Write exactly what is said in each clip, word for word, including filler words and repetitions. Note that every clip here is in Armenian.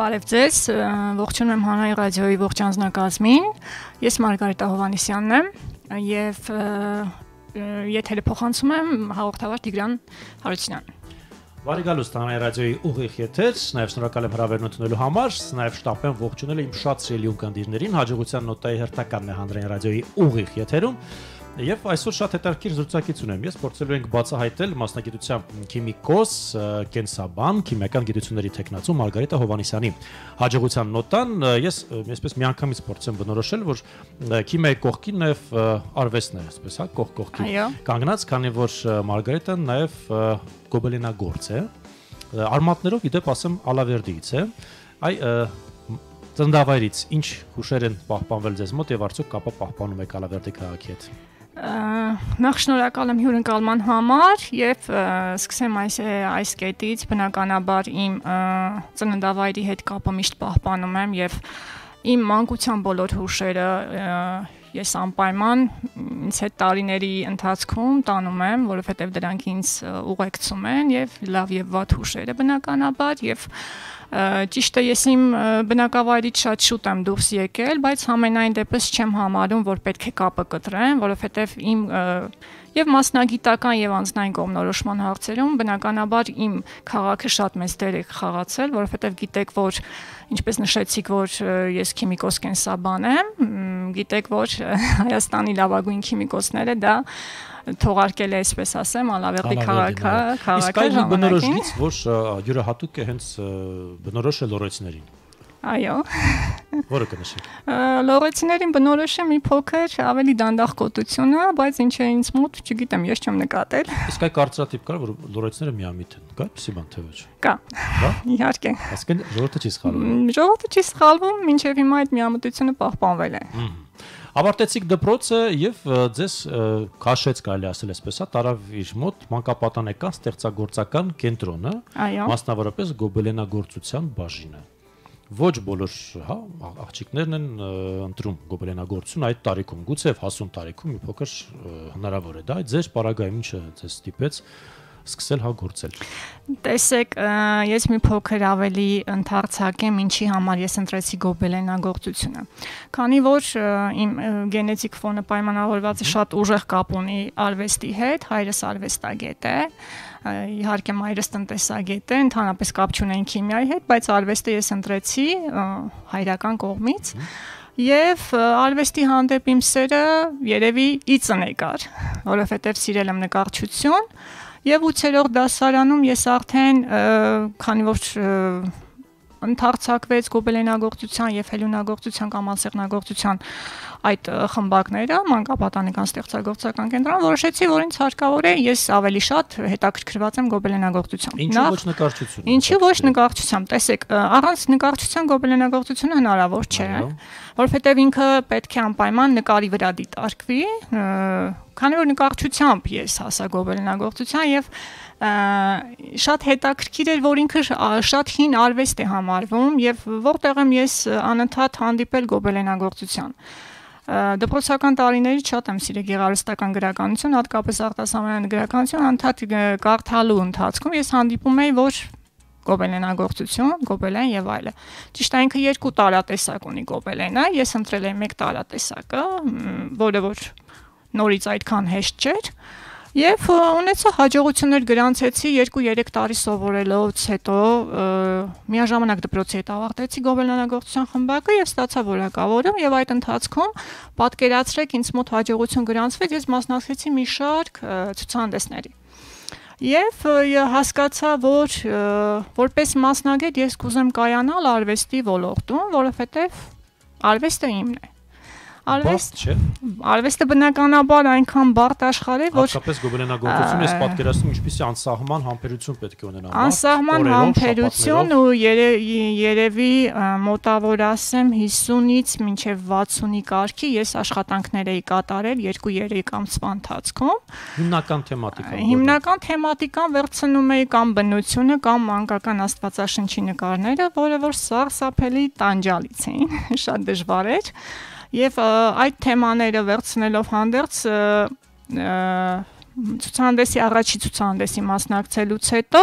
Բարև ձեզ, ողջունում եմ Հանրային ռադիոյի ողջ անձնակազմին, ես Մարգարիտա Հովհաննիսյանն եմ և եթերը փոխանցում եմ հաղորդավար Տիգրան Հարությունյանին։ Բարի գալուստ Հանրային ռադիոյի ուղիղ եթեր, նաև շնորհակալ եմ հրավերն ընդունելու համար, նաև շտապ եմ ողջունել իմ շատ սիրելի ունկնդիրներին, հաջողության նոտայի հերթականն է Հանրային ռադիոյի ուղիղ եթերում։ Եվ այսօր շատ հետաքրքիր զրուցակից ունեմ։ Ես փորձելու ենք բացահայտել մասնագիտությամբ քիմիկոս, կենսաբան, քիմիական գիտությունների թեկնածու Մարգարիտա Հովհաննիսյանի հաջողության նոտան ես այսպես միանգամից փորձեմ բնորոշել, որ քիմիայի կողքին նաև արվեստն է, այսպես հա, կողք կողքի կանգնած, քանի որ Մարգարիտան նաև գոբելենագործ է, արմատներով իդեպ ասեմ Ալավերդիից է։ Այ ծննդավայրից ինչ հուշեր են պահպանվել ձեզ մոտ եւ արդյոք կապը պահպանում եք Ալավերդի քաղաքի հետ։ Նախ շնորհակալ եմ հյուրընկալման համար եւ սկսեմ այս այս կետից բնականաբար իմ ծննդավայրի հետ կապը միշտ պահպանում եմ եւ իմ մանկության բոլոր հուշերը ես անպայման ինձ հետ տարիների ընթացքում տանում եմ, որովհետեւ դրանք ինձ ուղեկցում են եւ լավ եւ վատ հուշերը բնականաբար եւ ճիշտ է ես իմ բնակավայրից շատ շուտ եմ դուրս եկել, բայց համենայն դեպս չեմ համարում, որ պետք է կապը կտրեմ, որովհետև իմ եւ մասնագիտական եւ անձնային կողմնորոշման հարցերում բնականաբար իմ քաղաքը շատ մեծ դեր է խաղացել, որովհետեւ գիտեք, որ ինչպես նշեցիք, որ ես քիմիկոս կենսաբան եմ, գիտեք, որ Հայաստանի լավագույն քիմիկոսները դա թողարկել է, այսպես ասեմ, Ալավերդի քաղաքը, քաղաքը ժամանակին։ Իսկ այն բնորոշից, որ յուրահատուկ է հենց բնորոշը լոռեցիներին։ Այո։ Որը կնշեք։ Լոռեցիներին բնորոշը մի փոքր ավելի դանդաղ կոտությունը, բայց ինչ է ինձ մոտ, չգիտեմ, ես չեմ նկատել։ Իսկ այ կարծրատիպ կա, որ լոռեցիները միամիտ են, կա՞ էսի բան թե ոչ։ Կա։ Իհարկե։ Այսինքն ժողովուրդը չի սխալվում։ Ժողովուրդը չի սխալվում, մինչև հիմա այդ միամտությունը պահպանվել է։ Ավարտեցիք դպրոցը եւ ձեզ քաշեց, կարելի ասել այսպես, հա, տարավ իր մոտ մանկապատանեկան ստեղծագործական կենտրոնը, մասնավորապես գոբելենագործության բաժինը։ Ոչ բոլոր, հա, աղջիկներն են ընտրում գոբելենագործություն այդ տարիքում, գուցե հասուն տարիքում մի փոքր հնարավոր է դա, ձեր պարագայում ինչը ձեզ ստիպեց սկսել հա գործել։ Տեսեք, ես մի փոքր ավելի ընդարձակեմ ինչի համար ես ընտրեցի գոբելենագործությունը։ Քանի որ իմ գենետիկ ֆոնը պայմանավորված է շատ ուժեղ կապ ունի արվեստի հետ, հայրս արվեստագետ է, իհարկե մայրս տնտեսագետ է, ընդհանրապես կապ չունեն քիմիայի հետ, բայց արվեստը ես ընտրեցի հայրական կողմից։ Եվ արվեստի հանդեպ իմ սերը երևի ի ծնե կար, որովհետև սիրել եմ նկարչություն։ Եվ ութերորդ դասարանում ես արդեն, քանի որ ընդարձակվեց գոբելենագործության եւ հելունագործության կամ անսեղնագործության այդ խմբակները, մանկապատանեկան ստեղծագործական կենտրոն, որոշեցի, որ ինձ հարկավոր է ես ավելի շատ հետաքրքրված եմ գոբելենագործությամբ։ Ինչու ոչ նկարչություն։ Ինչու ոչ նկարչությամբ։ Տեսեք, առանց նկարչության գոբելենագործությունը հնարավոր չէ, որովհետեւ ինքը պետք է անպայման նկարի վրա դիտարկվի, քանի որ նկարչությամբ ես հասա գոբելենագործության եւ շատ հետաքրքիր էր, որ ինքը շատ հին արվեստ է համարվում եւ որտեղ եմ ես անընդհատ հանդիպել գոբելենագործության։ Դպրոցական տարիներից շատ եմ սիրել գեղարվեստական գրականություն, հատկապես արտասահմանյան գրականություն, անընդհատ կարդալու ընթացքում ես հանդիպում էի, որ գոբելենագործություն, գոբելեն եւ այլը։ Ճիշտ է, ինքը երկու տարատեսակ ունի գոբելենը, ես ընտրել եմ մեկ տարատեսակը, որը որ նորից այդքան հեշտ չէր։ Եվ ունեցա հաջողություններ գրանցեցի երկու-երեք տարի սովորելուց հետո միաժամանակ դպրոցի հետ ավարտեցի գոբելենագործության խմբակը եւ ստացա որակավորում եւ այդ ընթացքում պատկերացրեք ինձ մոտ հաջողություն գրանցվեց, ես մասնակցեցի մի շարք ցուցահանդեսների։ Եվ հասկացա, որ որպես մասնագետ ես կուզեմ կայանալ արվեստի ոլորտում, որովհետեւ արվեստը իմն է։ Արվեստ չէ։ Արվեստը բնականաբար այնքան բարդ աշխարհ է, որ հատկապես գոբելենագործությունը ես պատկերացնում ինչպիսի անսահման համբերություն պետք է ունենա։ Անսահման համբերություն ու երևի մոտավոր ասեմ հիսունից մինչև վաթսունի կարգի ես աշխատանքներ էի կատարել երկու-երեք ամսվա ընթացքում։ Հիմնական թեմատիկան։ Հիմնական թեմատիկան վերցնում էի կամ բնությունը կամ մանկական աստվածաշնչի նկարները, որը որ սարսափելի տանջալից էին, շատ դժվար էր։ Եվ այդ թեմաները վերցնելով հանդերձ ցուցահանդեսի առաջի ցուցահանդեսի մասնակցելուց հետո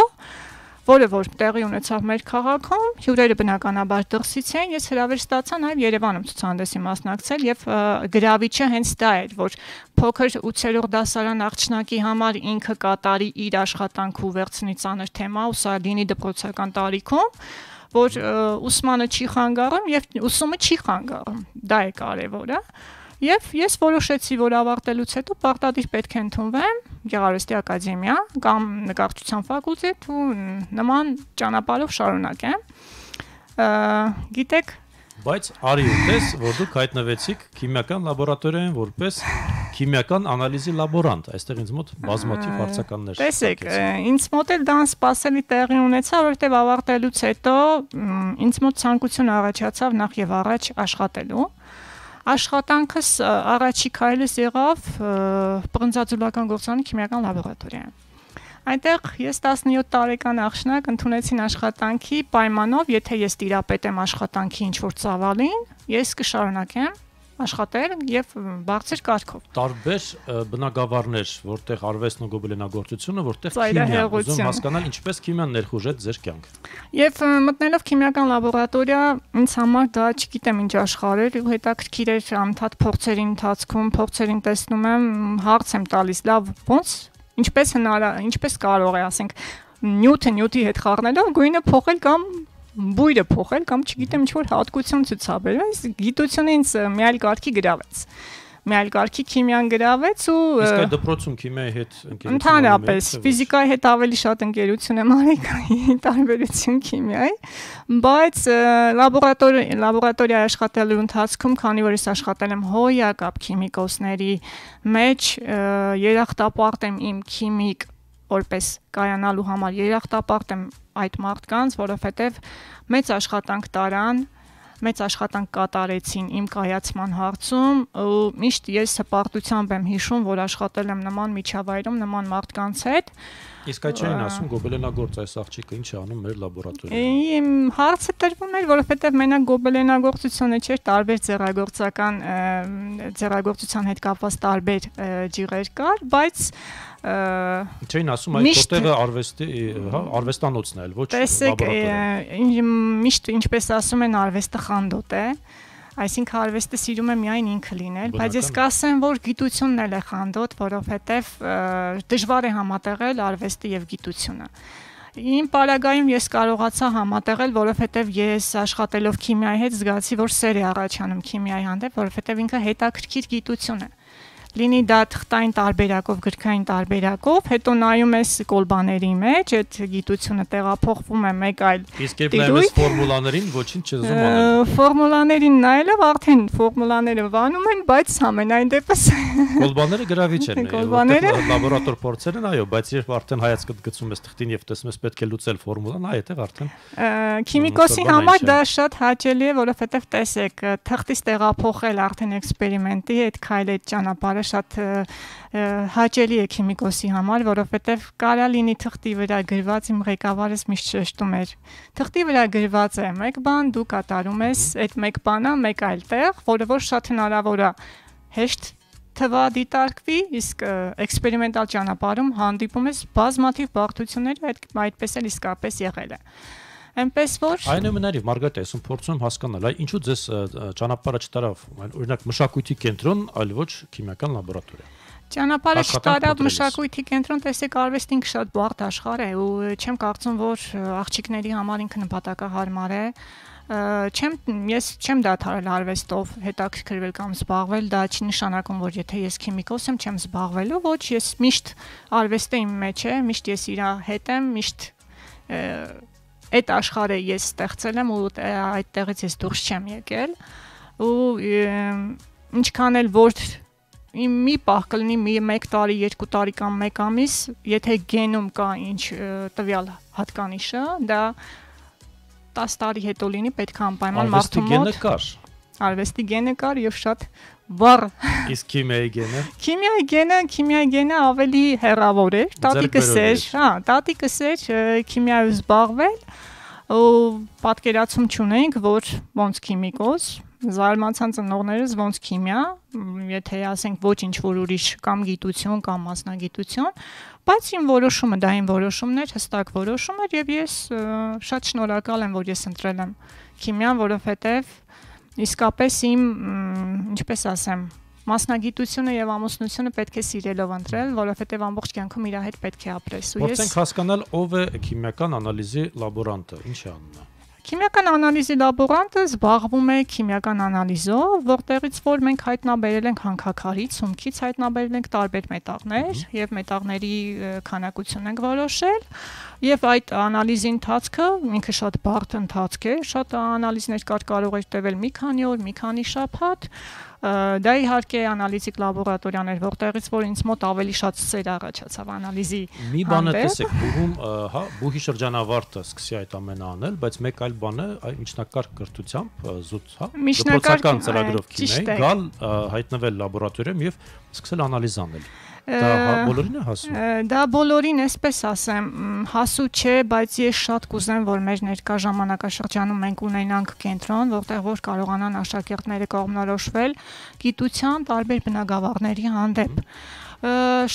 որը որ տեղի ունեցավ մեր քաղաքում, հյուրերը բնականաբար դրսից էին, ես հրավեր ստացա նաև Երևանում ցուցահանդեսի մասնակցել եւ գրավիչը հենց դա էր, որ փոքր ութերորդ դասարան աղջնակի համար ինքը կատարի իր աշխատանքը ու վերցնի ծանր թեմա ու սա լինի դպրոցական տարիքում, որ ուսմանը չի խանգարում եւ ուսումը չի խանգարում, դա է կարեւորը։ Եվ ես որոշեցի, որ ավարտելուց հետո պարտադիր պետք է ընդունվեմ Գեղարվեստի ակադեմիա կամ նկարչության ֆակուլտետ ու նման ճանապարհով շարունակեմ։ Գիտեք, բայց արի ուտես, որ դուք հայտնվեցիք քիմիական լաբորատորիայում որպես քիմիական անալիզի լաբորանտ, այստեղ ինձ մոտ բազմաթիվ հարցականներ։ Տեսեք, ինձ մոտ էլ դա սպասելի տեղի ունեցավ, որովհետև ավարտելուց հետո ինձ մոտ ցանկություն առաջացավ նախ եւ առաջ աշխատելու։ Աշխատանքս առաջի քայլս եղավ պրնձաձուլական գործարանի քիմիական լաբորատորիայում։ Այնտեղ ես տասնյոթ տարեկան աղջնակ ընդունեցին աշխատանքի պայմանով, եթե ես տիրապետեմ աշխատանքի ինչ-որ ծավալին, ես կշարունակեմ աշխատել եւ բարձր կարգով։ Տարբեր բնագավառներ, որտեղ արվեստն ու գոբելենագործությունը, որտեղ քիմիան, ուզում հասկանալ ինչպես քիմիան ներխուժեց ձեր կյանք։ Եվ մտնելով քիմիական լաբորատորիա, ինձ համար դա չգիտեմ ինչ աշխարհ էր, ու հետաքրքիր էր անդադ փորձերի ընթացքում, փորձերին տեսնում եմ, հարց եմ տալիս, լավ, ոնց, ինչպես հնարավոր, ինչպես կարող է, ասենք, նյութը նյութի հետ խառնելով գույնը փոխել կամ բույրը փոխել կամ չգիտեմ ինչ-որ հատկություն ցուցաբերել, այս գիտությունը ինձ մի այլ կարգի գրավեց։ Մի այլ կարգի քիմիան գրավեց ու իսկ այդ դպրոցում քիմիայի հետ ընկերություն ընդհանրապես ֆիզիկայի հետ ավելի շատ ընկերություն եմ արել, տարբերություն քիմիայի, բայց լաբորատորիա լաբորատորիայի աշխատելու ընթացքում, քանի որ ես աշխատել եմ հոյակապ քիմիկոսների մեջ, երախտապարտ եմ իմ քիմիկ որպես կայանալու համար երախտապարտ եմ այդ մարդկանց, որովհետև մեծ աշխատանք տարան, մեծ աշխատանք կատարեցին իմ կայացման հարցում ու միշտ ես հպարտությամբ եմ հիշում, որ աշխատել եմ նման միջավայրում, նման մարդկանց հետ։ Իսկ այդ չէին ասում գոբելենագործ այս աղջիկը ինչ է անում մեր լաբորատորիայում։ Իմ հարցը տրվում էր, որովհետև մենակ գոբելենագործությունը չէր, տարբեր ձեռագործական ձեռագործության հետ կապված տարբեր ջիղեր կար, բայց Չէին ասում այդ որտեղը արվեստի, հա, արվեստանոցն է, ոչ լաբորատորիա։ Միշտ ինչպես ասում են, արվեստը խանդոտ է, այսինքն արվեստը սիրում է միայն ինքը լինել, բայց ես կասեմ, որ գիտությունն էլ է խանդոտ, որովհետև դժվար է համատեղել արվեստը եւ գիտությունը։ Իմ պարագայում ես կարողացա համատեղել, որովհետև ես աշխատելով քիմիայի հետ զգացի, որ սեր է առաջանում քիմիայի հանդեպ, որովհետև ինքը հետաքրքիր գիտություն է։ Լինի դա թղթային տարբերակով, գրքային տարբերակով, հետո նայում ես կոլբաների մեջ, այդ գիտությունը տեղափոխվում է մեկ այլ իսկ երբ նայում ես ֆորմուլաներին, ոչինչ չես ուզում անել։ Ֆորմուլաներին նայելով արդեն ֆորմուլաները վանում են, բայց համենայն դեպս կոլբաները գրավիչ են, որտեղ լաբորատոր փորձեր են, այո, բայց երբ արդեն հայացքդ գցում ես թղթին եւ տեսնում ես պետք է լուծել ֆորմուլան, այդտեղ արդեն քիմիկոսի համար դա շատ հաճելի է, որովհետեւ տեսեք, թղթից տեղափոխել արդեն էքսպերիմենտի այդ քայլը ճանապարհը շատ հաճելի է քիմիկոսի համար, որովհետև կարա լինի թղթի վրա գրված, իմ ղեկավարս միշտ շեշտում էր, թղթի վրա գրված է մեկ բան, դու կատարում ես այդ մեկ բանը մեկ այլ տեղ, որը որ շատ հնարավոր է հեշտ թվա դիտարկվի, իսկ էքսպերիմենտալ ճանապարհում հանդիպում ես բազմաթիվ բարդություններ, այդպես էլ իսկապես եղել է։ Այնպես որ այնուամենայնիվ Մարգարիտ, ես փորձում եմ հասկանալ, այ ինչու ձեզ ճանապարհը չտարավ, օրինակ մշակույթի կենտրոն, այլ ոչ քիմիական լաբորատորիա։ Ճանապարհը չտարավ մշակույթի կենտրոն, տեսեք, արվեստը ինքը շատ բարդ աշխարհ է ու չեմ կարծում, որ աղջիկների համար ինքը նպատակահարմար է։ Չեմ ես չեմ դադարել արվեստով հետաքրքրվել կամ զբաղվել, դա չի նշանակում, որ եթե ես քիմիկոս եմ, չեմ զբաղվելու, ոչ, ես միշտ արվեստը իմ մեջ է, միշտ ես իր հետ եմ, միշտ այդ աշխարհը ես ստեղծել եմ ու այդտեղից ես դուրս չեմ եկել ու ինչքան էլ որ մի պահ կլինի մի մեկ տարի, երկու տարի կամ մեկ ամիս, եթե գենում կա ինչ տվյալ հատկանիշը, դա տասը տարի հետո լինի, պետք է անպայման մարդու մոտ արվեստի գենը կար եւ շատ վառ։ Իսկ քիմիայի գենը։ Քիմիայի գենը, քիմիայի գենը ավելի հեռավոր էր, տատիկս էր, հա, տատիկս էր քիմիայով զբաղվել ու պատկերացում չունենք, որ ոնց քիմիկոս զարմացան ծնողներս ոնց քիմիա, եթե ասենք ոչ ինչ որ ուրիշ կամ գիտություն կամ մասնագիտություն, բայց իմ որոշումը դա իմ որոշումն էր, հստակ որոշում էր եւ ես շատ շնորհակալ եմ, որ ես ընտրել եմ քիմիան, որովհետեւ իսկապես իմ, ինչպես ասեմ, մասնագիտությունը եւ ամուսնությունը պետք է սիրելով ընտրել, որովհետեւ ամբողջ կյանքում իր հետ պետք է ապրես ու ես Փորձենք հասկանալ ով է քիմիական անալիզի լաբորանտը, ինչ է անում։ Քիմիական անալիզի լաբորանտը զբաղվում է քիմիական անալիզով, որտեղից որ մենք հայտնաբերել ենք հանքաքարից, սումքից հայտնաբերել ենք տարբեր մետաղներ եւ մետաղների քանակություն ենք որոշել եւ այդ անալիզի ընթացքը ինքը շատ բարդ ընթացք է, շատ անալիզներ կար կարող էր տևել մի քանի օր, մի քանի շաբաթ Դա իհարկե անալիզիկ լաբորատորիան էր, որտեղից որ ինձ մոտ ավելի շատ սեր առաջացավ անալիզի Մի բան է տեսեք, բուհում, հա, բուհի շրջանավարտը սկսի այդ ամենը անել, բայց մեկ այլ բան է, այ միջնակարգ կրթությամբ զուտ, հա, դպրոցական ծրագրով քիմիայի գալ հայտնվել լաբորատորիայում եւ սկսել անալիզ անել։ Դա բոլորին է հասու։ Դա բոլորին, այսպես ասեմ, հասու չէ, բայց ես շատ կուզեմ, որ մեր ներկա ժամանակաշրջանում մենք ունենանք կենտրոն, որտեղ որ կարողանան աշակերտները կողմնորոշվել գիտության տարբեր բնագավառների հանդեպ։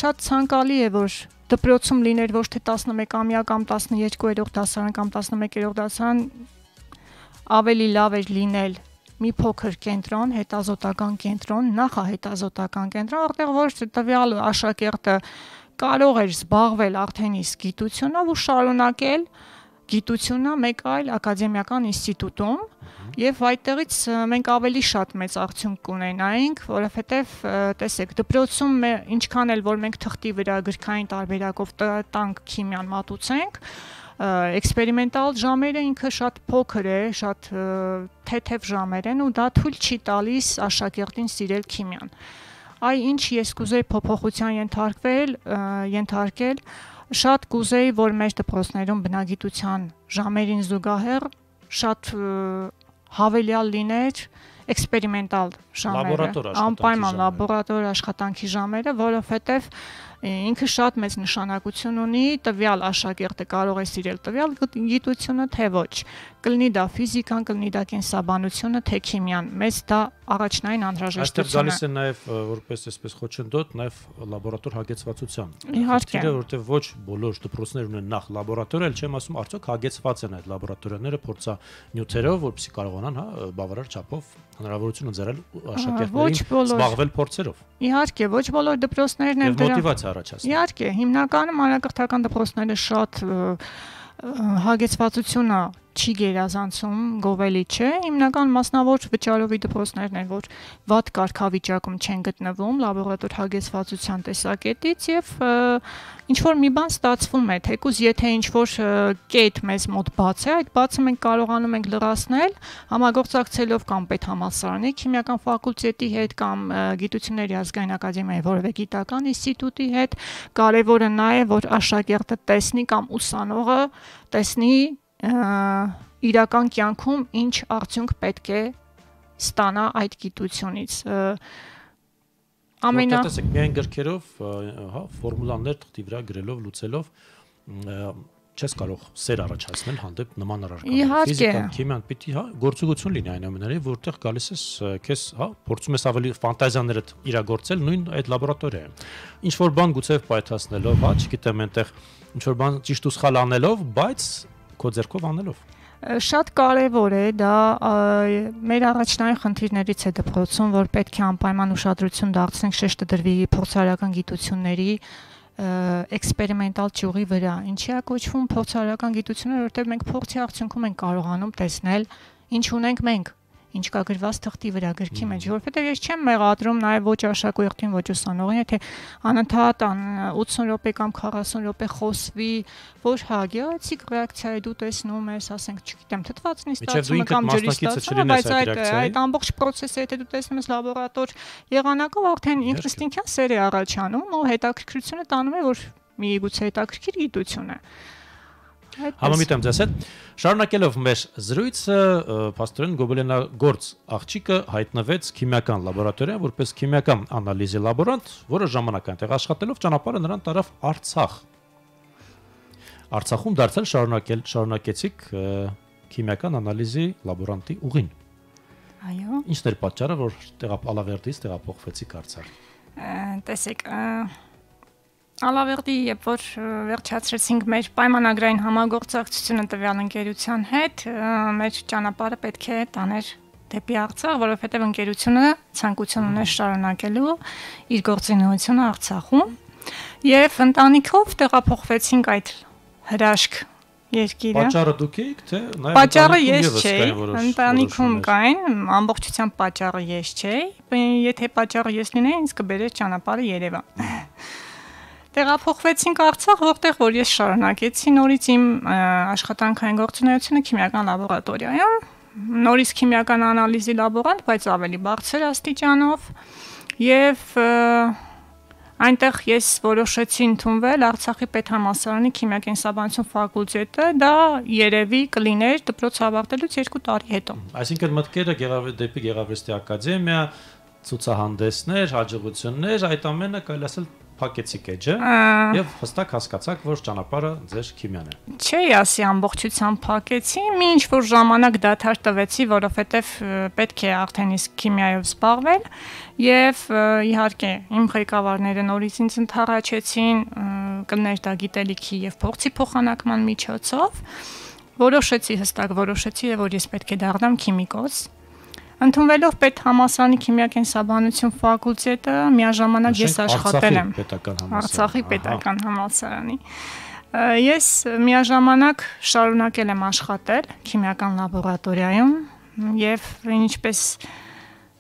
Շատ ցանկալի է, որ դպրոցում լիներ ոչ թե տասնմեկամյա կամ տասներկուերորդ դասարան կամ տասնմեկերորդ դասարան ավելի լավ էր լինել մի փոքր կենտրոն, հետազոտական կենտրոն, նախահետազոտական կենտրոն, որտեղ որ տվյալ աշակերտը կարող էր զբաղվել արդեն իսկ գիտությունով ու շարունակել գիտությունը մեկ այլ ակադեմիական ինստիտուտում եւ այդտեղից մենք ավելի շատ մեծ արդյունք կունենայինք, որովհետեւ տեսեք, դպրոցում ինչքան էլ որ մենք թղթի վրա գրքային տարբերակով տանք քիմիան մատուցենք, էքսպերիմենտալ ժամերը ինքը շատ փոքր է, շատ թեթև ժամեր են ու դա թույլ չի տալիս աշակերտին սիրել քիմիան։ Այ ինչ ես կուզեի փոփոխության ենթարկվել, ենթարկել, շատ կուզեի, որ մեր դպրոցներում բնագիտության ժամերին զուգահեռ շատ հավելյալ լիներ էքսպերիմենտալ ժամերը, անպայման լաբորատոր աշխատանքի ժամերը, որովհետև ինքը շատ մեծ նշանակություն ունի, տվյալ աշակերտը կարող է սիրել տվյալ գիտությունը, թե ոչ, կլինի դա ֆիզիկան, կլինի դա կենսաբանությունը, թե քիմիան, մեզ դա առաջնային անհրաժեշտություն է։ Այստեղ գալիս է նաև որպես այսպես խոչընդոտ, նաև լաբորատոր հագեցվածության։ Իհարկե, որովհետև ոչ բոլոր դպրոցներ ունեն նախ լաբորատորիա, էլ չեմ ասում, արդյոք հագեցված են այդ լաբորատորիաները փորձանյութերով, որպեսզի կարողանան, հա, բավարար չափով հնարավորություն ընձեռել աշակերտներին զբաղվել փորձերով։ Իհարկե, ոչ բոլոր դպրոցներն են դրա մոտիվացիա առաջացնում։ Իհարկե, հիմնականում անհրաժեշտական դպրոցները շատ հագեցվածությունը չի գերազանցում, գովելի չէ, հիմնական մասնավոր վճարովի դպրոցներն են, որ վատ կարգավիճակում չեն գտնվում լաբորատոր հագեցվածության տեսակետից եւ ինչ որ մի բան ստացվում է, թեկուզ եթե ինչ որ կետ մեզ մոտ բաց է, այդ բացը մենք կարողանում ենք լրացնել համագործակցելով կամ պետհամալսարանի քիմիական ֆակուլտետի հետ կամ գիտությունների ազգային ակադեմիայի որևէ գիտական ինստիտուտի հետ, կարևորը նա է, որ աշակերտը տեսնի կամ ուսանողը տեսնի իրական կյանքում ինչ արդյունք պետք է ստանա այդ գիտությունից։ Ամենա տեսեք, միայն գրքերով, հա, ֆորմուլաներ թղթի վրա գրելով, լուծելով չես կարող սեր առաջացնել հանդեպ նման առարկաների։ Ֆիզիկան, քիմիան պիտի, հա, գործողություն լինի այնուամենայնիվ, որտեղ գալիս ես քեզ, հա, փորձում ես ավելի ֆանտազիաներդ իրագործել նույն այդ լաբորատորիայում։ Ինչ որ բան գուցե պայթացնելով, հա, չգիտեմ, այնտեղ ինչ որ բան ճիշտ ու սխալ անելով, բայց քո ձեռքով անելով։ Շատ կարևոր է դա մեր առաջնային խնդիրներից է դպրոցում, որ պետք է անպայման ուշադրություն դարձնենք շեշտը դրվի փորձարարական գիտությունների էքսպերիմենտալ ճյուղի վրա։ Ինչի է կոչվում փորձարարական գիտությունը, որովհետև մենք փորձի արդյունքում ենք կարողանում տեսնել ինչ ունենք մենք, ինչ կա գրված թղթի վրա գրքի մեջ, որովհետև ես չեմ մեղադրում նաև ոչ աշակերտին, ոչ ուսանողին, եթե անընդհատ ութսուն րոպե կամ քառասուն րոպե խոսվի, որ հա գեղեցիկ ռեակցիա է դու տեսնում ես, ասենք, չգիտեմ, թթվածնի ստացումը կամ ջրի ստացումը, բայց այդ այդ ամբողջ process-ը եթե դու տեսնում ես լաբորատոր եղանակով, արդեն ինստինկտիվ սեր է առաջանում ու հետաքրքրությունը տանում է, որ միգուցե հետաքրքիր գիտություն է։ Համամիտ եմ ձեզ հետ։ Շարունակելով մեր զրույցը, փաստորեն Գոբելենագործ աղջիկը հայտնվեց քիմիական լաբորատորիայում որպես քիմիական անալիզի լաբորանտ, որը ժամանակ այնտեղ աշխատելով ճանապարհը նրան տարավ Արցախ։ Արցախում դարձել շարունակել շարունակեցիք քիմիական անալիզի լաբորանտի ուղին։ Այո։ Ինչն էր պատճառը, որ Ալավերդից տեղափոխվեցիք Արցախ։ Տեսեք, Ալավերդի երբ որ վերջացրեցինք մեր պայմանագրային համագործակցությունը տվյալ ընկերության հետ, մեր ճանապարհը պետք է տաներ դեպի Արցախ, որովհետև ընկերությունը ցանկություն ուներ շարունակելու իր գործունեությունը Արցախում, եւ ընտանիքով տեղափոխվեցինք այդ հրաշք երկիրը։ Պատճառը դուք եք, թե նաեւ Պատճառը ես չէի, ընտանիքում կային, ամբողջությամբ պատճառը ես չէի, եթե պատճառը ես լինեի, ինձ կբերեր ճանապարհը Երևան։ Տեղափոխվեցինք Արցախ, որտեղ որ ես շարունակեցի նորից իմ աշխատանքային գործունեությունը քիմիական լաբորատորիայում, նորից քիմիական անալիզի լաբորանտ, բայց ավելի բարձր աստիճանով, եւ այնտեղ ես որոշեցի ընդունվել Արցախի պետհամալսարանի քիմիակենսաբանություն ֆակուլտետը, դա երևի կլիներ դպրոց ավարտելուց երկու տարի հետո։ Այսինքն մտքերը դեպի Գեղարվեստի ակադեմիա, ցուցահանդեսներ, հաջողություններ, այդ ամենը կարելի ասել փակեցիք էջը եւ հստակ հասկացաք, որ ճանապարհը ձեր քիմիան է։ Չէ, ասի ամբողջությամբ փակեցի, մի ինչ որ ժամանակ դադար տվեցի, որովհետեւ պետք է արդեն իսկ քիմիայով զբաղվել եւ իհարկե իմ ղեկավարները նորից ինձ ընդառաջեցին կլներ դա գիտելիքի եւ փորձի փոխանակման միջոցով։ Որոշեցի, հստակ որոշեցի, որ ես պետք է դառնամ քիմիկոս։ Ընդունվելով պետհամալսարանի քիմիակենսաբանություն ֆակուլտետը միաժամանակ ես աշխատել եմ Արցախի պետական համալսարանի։ Ես միաժամանակ շարունակել եմ աշխատել քիմիական լաբորատորիայում եւ ինչպես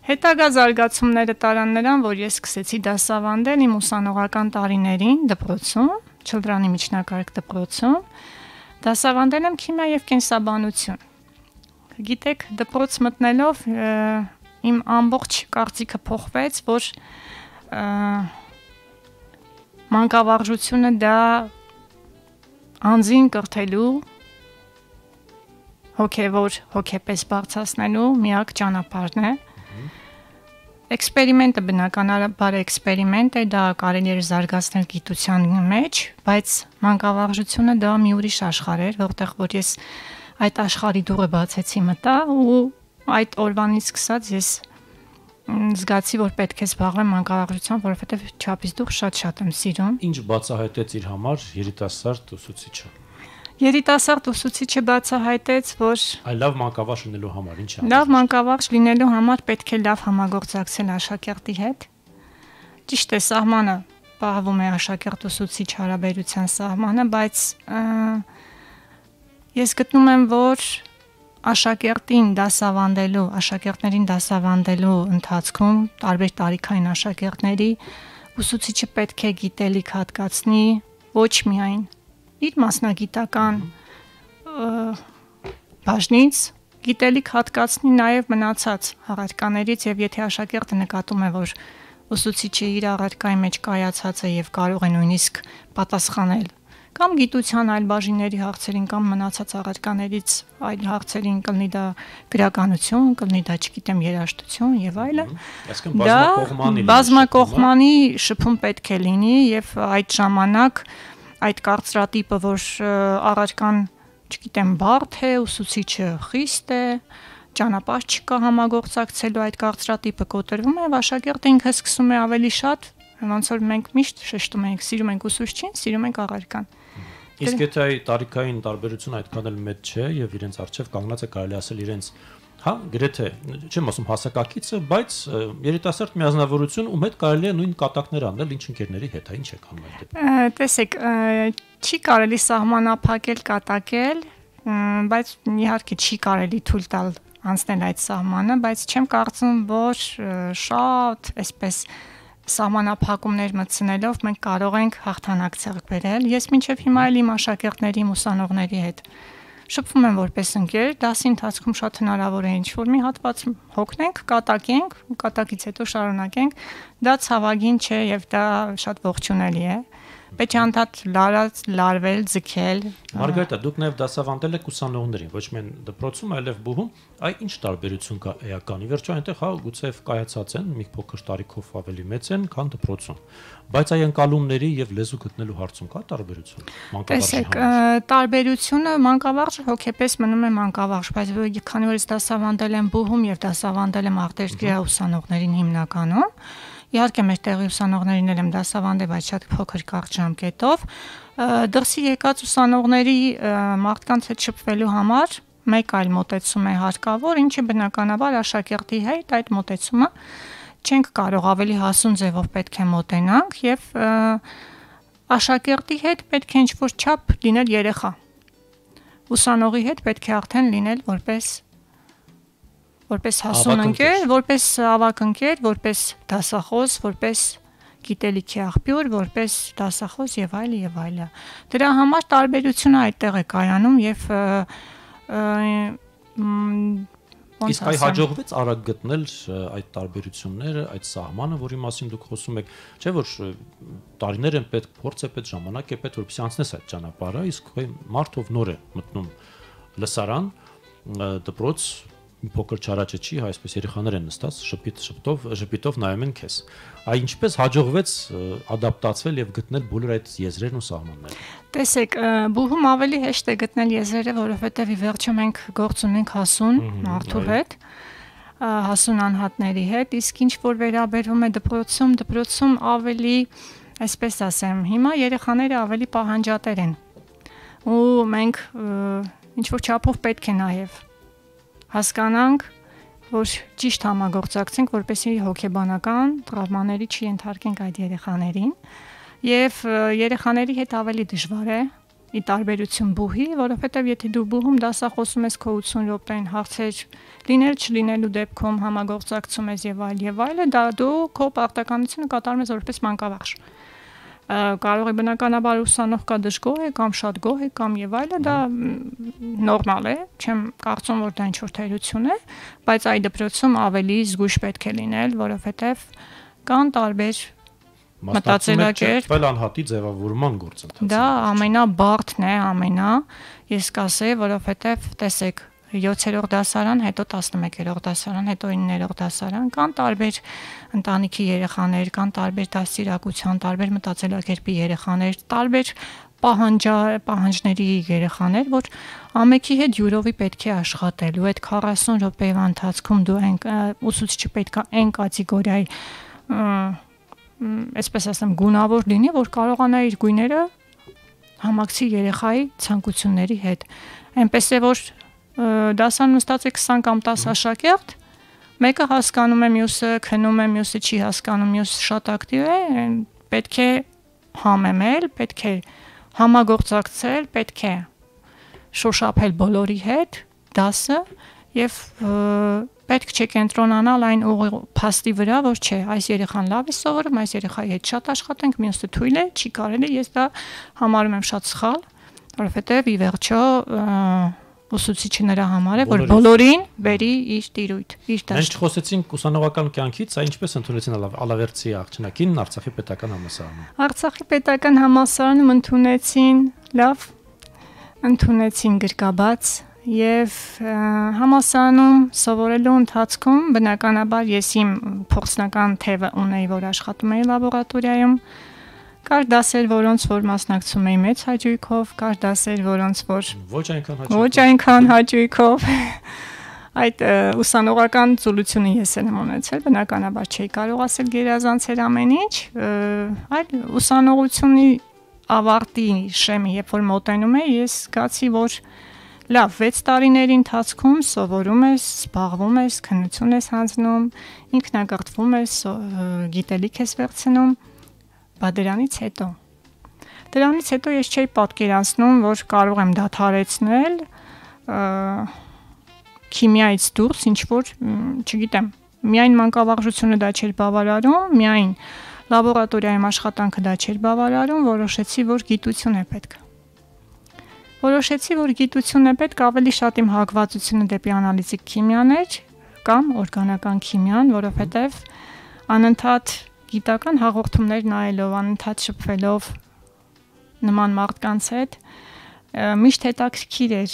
հետագա զարգացումները տարան նրան, որ ես սկսեցի դասավանդել իմ ուսանողական տարիներին դպրոցում, Չլդրանի միջնակարգ դպրոցում, դասավանդել եմ քիմիա եւ կենսաբանություն։ Գիտեք, դպրոց մտնելով իմ ամբողջ կարծիքը փոխվեց, որ մանկավարժությունը դա անձին կրթելու հոգևոր հոգեպես բարձրացնելու միակ ճանապարհն է։ Էքսպերիմենտը բնականաբար էքսպերիմենտ է, դա կարելի է զարգացնել գիտության մեջ, բայց մանկավարժությունը դա մի ուրիշ աշխարհ էր, որտեղ որ ես այդ աշխարհի դուռը բացեցի մտա ու այդ օրվանից սկսած ես զգացի, որ պետք է զբաղվեմ մանկավարժությամբ, որովհետև չափից դուրս շատ-շատ եմ սիրում։ Ինչ բացահայտեց իր համար երիտասարդ ուսուցիչը։ Երիտասարդ ուսուցիչը բացահայտեց, որ այ լավ մանկավարժ լինելու համար ինչ է։ Լավ մանկավարժ լինելու համար պետք է լավ համագործակցել աշակերտի հետ։ Ճիշտ է, սահմանը պահվում է աշակերտ-ուսուցիչ հարաբերության սահմանը, բայց ես գտնում եմ, որ աշակերտին դասավանդելու, աշակերտներին դասավանդելու ընթացքում տարբեր տարիքային աշակերտների ուսուցիչը պետք է գիտելիք հատկացնի ոչ միայն իր մասնագիտական բաժնից, գիտելիք հատկացնի նաև մնացած առարկաներից եւ եթե աշակերտը նկատում է, որ ուսուցիչը իր առարկայի մեջ կայացած է եւ կարող է նույնիսկ պատասխանել կամ գիտության այլ բաժինների հարցերին կամ մնացած առարկաներից այլ հարցերին կլինի դա գրականություն, կլինի դա, չգիտեմ, երաժշտություն եւ այլը։ Դա բազմակողմանի շփում պետք է լինի եւ այդ ժամանակ այդ կարծրատիպը, որ առարկան, չգիտեմ, բարդ է, ուսուցիչը խիստ է, ճանապարհ չկա համագործակցելու, այդ կարծրատիպը կոտրվում է եւ աշակերտը ինքը սկսում է ավելի շատ, ոնց որ մենք միշտ շեշտում ենք, սիրում ենք ուսուցչին, սիրում ենք առարկան։ Իսկ եթե այդ տարիքային տարբերությունը այդքան էլ մեծ չէ եւ իրենց արժեվ կանգնած է կարելի ասել իրենց, հա, գրեթե, չեմ ասում հասակակիցը, բայց երիտասարդ միազնավորություն, ում հետ կարելի է նույն կատակներ անել, ինչ ընկերների հետ, ինչ է անում այդ դեպքում։ Տեսեք, չի կարելի սահմանափակել, կատակել, բայց իհարկե չի կարելի թույլ տալ անցնել այդ սահմանը, բայց չեմ կարծում, որ շատ այսպես սահմանափակումներ մտցնելով մենք կարող ենք հաղթանակ ձեռք բերել։ Ես մինչև հիմա էլ իմ աշակերտների, ուսանողների հետ շփվում եմ որպես ընկեր, դասի ընթացքում շատ հնարավոր է ինչ-որ մի հատված հոգնենք, կատակենք, կատակից հետո շարունակենք, դա ցավագին չէ եւ դա շատ ողջունելի է, Պետք է անդադ լարած, լարվել, ձգել։ Մարգարիտա, դուք նաև դասավանդել եք ուսանողներին, ոչ միայն դպրոցում, այլև բուհում, այ ինչ տարբերություն կա էականի։ Վերջո այնտեղ հա գուցեև կայացած են, մի փոքր տարիքով ավելի մեծ են, քան դպրոցում։ Բայց այ ընկալումների եւ լեզու գտնելու հարցում կա տարբերություն։ Տեսեք, տարբերությունը մանկավարժը հոգեպես մնում է մանկավարժ, բայց քանի որ ես դասավանդել եմ բուհում եւ դասավանդել եմ արտերկրյա ուսանողներին հիմնականում, իհարկե մեր տեղի ուսանողներին էլ եմ դասավանդել, բայց շատ փոքր կարճ ժամկետով, դրսի եկած ուսանողների մարդկանց հետ շփվելու համար մեկ այլ մոտեցում է հարկավոր, ինչը բնականաբար աշակերտի հետ այդ մոտեցումը չենք կարող ավելի հասուն ձևով պետք է մոտենանք եւ աշակերտի հետ պետք է ինչ-որ չափ լինել երեխա։ Ուսանողի հետ պետք է արդեն լինել որպես որպես հասուն ընկեր, որպես ավակ ընկեր, որպես դասախոս, որպես գիտելիքի աղբյուր, որպես դասախոս եւ այլ եւ այլը։ Դրա համար տարբերությունը այդտեղ է կայանում եւ Իսկ այ հաջողվեց արագ գտնել այդ տարբերությունները, այդ սահմանը, որի մասին դուք խոսում եք, չէ՞ որ տարիներ են պետք, փորձ է պետք, ժամանակ է պետք, որպեսզի անցնես այդ ճանապարհը, իսկ մարդով նոր է մտնում լսարան, դպրոց, մի փոքր չարաճճի, այսպես երեխաներ են նստած, շփիտ շփտով, շփիտով նայում են քեզ։ Այ ինչպես հաջողվեց ադապտացվել եւ գտնել բոլոր այդ եզրերն ու սահմանները։ Տեսեք, բուհում ավելի հեշտ է գտնել եզրերը, որովհետեւ ի վերջո մենք գործ ունենք հասուն մարդու հետ, հասուն անհատների հետ, իսկ ինչ որ վերաբերվում է դպրոցում, դպրոցում ավելի, այսպես ասեմ, հիմա երեխաները ավելի պահանջատեր են։ Ու մենք ինչ որ չափով պետք է նաեւ հասկանանք, որ ճիշտ համագործակցենք, որպեսզի հոգեբանական տրավմաների չենթարկենք այդ երեխաներին, եւ երեխաների հետ ավելի դժվար է ի տարբերություն բուհի, որովհետեւ եթե դու բուհում դասախոսում ես քո ութսուն րոպեին հարցեր լինել չլինելու դեպքում համագործակցում ես եւ այլ եւ այլը, դա դու քո պարտականությունը կատարում ես որպես մանկավարժ։ Կարող է բնականաբար ուսանող կա դժգոհ է կամ շատ գոհ է կամ եւ այլը, դա նորմալ է, չեմ կարծում որ դա ինչ-որ թերություն է, բայց այդ դպրոցում ավելի զգույշ պետք է լինել, որովհետեւ կան տարբեր մտածելակերպ, այլ անհատի ձևավորման գործընթաց։ Դա ամենաբարդն է, ամենա, ես կասեի, որովհետեւ տեսեք յոթերորդ դասարան, հետո տասնմեկերորդ դասարան, հետո իններորդ դասարան, կան տարբեր ընտանիքի երեխաներ, կան տարբեր դաստիարակության, տարբեր մտածելակերպի երեխաներ, տարբեր պահանջա, պահանջների երեխաներ, որ ամենքի հետ յուրովի պետք է աշխատել, ու այդ քառասուն րոպեվա ընթացքում դու այն ուսուցիչը պետք է այն կատեգորիայի, այսպես ասեմ, գունավոր լինի, որ կարողանա իր գույները համակցի երեխայի ցանկությունների հետ։ Այնպես է որ դասան նստած է քսան կամ տասը աշակերտ, մեկը հասկանում է, մյուսը քնում է, մյուսը չի հասկանում, մյուսը շատ ակտիվ է, պետք է համեմել, պետք է համագործակցել, պետք է շոշափել բոլորի հետ դասը եւ պետք չէ կենտրոնանալ այն փաստի վրա, որ չէ, այս երեխան լավ է սովորում, այս երեխայի հետ շատ աշխատենք, մյուսը թույլ է, չի կարելի, ես դա համարում եմ շատ սխալ, որովհետեւ ի վերջո ուսուցիչը նրա համար է, որ բոլորին բերի իր տիրույթ, իր դաշտ։ Մենք խոսեցինք ուսանողական կյանքից, այ ինչպես ընդունեցին Ալավերդի աղջնակին Արցախի պետական համալսարանում։ Արցախի պետական համալսարանում ընդունեցին լավ, ընդունեցին գրկաբաց եւ համալսարանում սովորելու ընթացքում բնականաբար ես իմ փորձնական թևը ունեի, որ աշխատում էի լաբորատորիայում։ Կար դասեր, որոնց որ մասնակցում էի մեծ հաճույքով, կար դասեր, որոնց որ ոչ այնքան հաճույքով։ Ոչ այնքան հաճույքով։ Այդ ուսանողական ծուլությունը ես եմ ունեցել, բնականաբար չէի կարող ասել գերազանցել ամեն ինչ, այլ ուսանողությունի ավարտի շեմի, երբ որ մոտենում էի, ես զգացի, որ լավ, վեց տարիների ընթացքում սովորում ես, զբաղվում ես, քննություն ես հանձնում, ինքնագործվում ես, գիտելիք ես վերցնում, բայց դրանից հետո դրանից հետո ես չէի պատկերացնում, որ կարող եմ դադարեցնել քիմիայից դուրս ինչ որ, չգիտեմ, միայն մանկավարժությունը դա չէր բավարարում, միայն լաբորատորիայում աշխատանքը դա չէր բավարարում, որոշեցի, որ գիտություն է պետք։ Որոշեցի, որ գիտություն է պետք, ավելի շատ իմ հակվածությունը դեպի անալիզիկ քիմիան էր կամ օրգանական քիմիան, որովհետև անընդհատ գիտական հաղորդումներ նայելով, անընդհատ շփվելով նման մարդկանց հետ, միշտ հետաքրքիր էր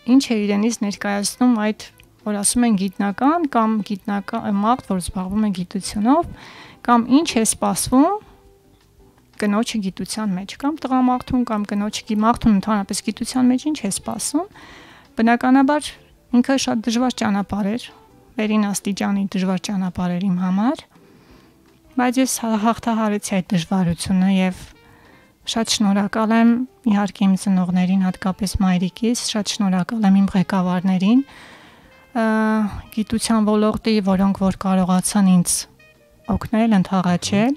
ինչ է իրենից ներկայացնում այդ, որ ասում են գիտնական կամ գիտնական մարդ, որ զբաղվում է գիտությունով, կամ ինչ է սպասվում կնոջը գիտության մեջ, կամ տղամարդուն կամ կնոջը մարդուն ընդհանրապես գիտության մեջ ինչ է սպասում, բնականաբար ինքը շատ դժվար ճանապարհ էր, վերին աստիճանի դժվար ճանապարհ էր իմ համար, բայց ես հաղթահարեցի այդ դժվարությունը եւ շատ շնորհակալ եմ իհարկե իմ ծնողներին, հատկապես մայրիկիս, շատ շնորհակալ եմ իմ ղեկավարներին, գիտության ոլորտի, որոնք որ կարողացան ինձ օգնել, ընդառաջել,